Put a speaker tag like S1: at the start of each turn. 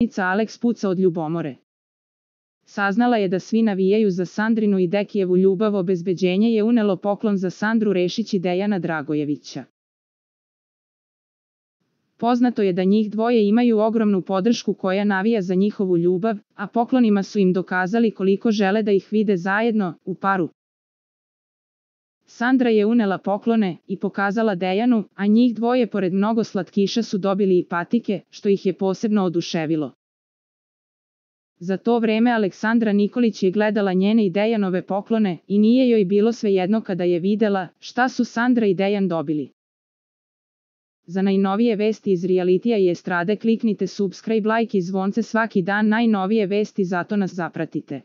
S1: Matica Alex puca od ljubomore. Saznala je da svi navijaju za Sandrinu i Dekijevu ljubav, obezbeđenje je unelo poklon za Sandru Rešić i Dejana Dragojevića. Poznato je da njih dvoje imaju ogromnu podršku koja navija za njihovu ljubav, a poklonima su im dokazali koliko žele da ih vide zajedno, u paru. Sandra je unela poklone i pokazala Dejanu, a njih dvoje pored mnogo slatkiša su dobili i patike, što ih je posebno oduševilo. Za to vreme Aleksandra Nikolić je gledala njene i Dejanove poklone i nije joj bilo svejedno kada je videla šta su Sandra i Dejan dobili. Za najnovije vesti iz realitija i estrade kliknite subscribe, like i zvonce svaki dan, najnovije vesti, zato nas zapratite.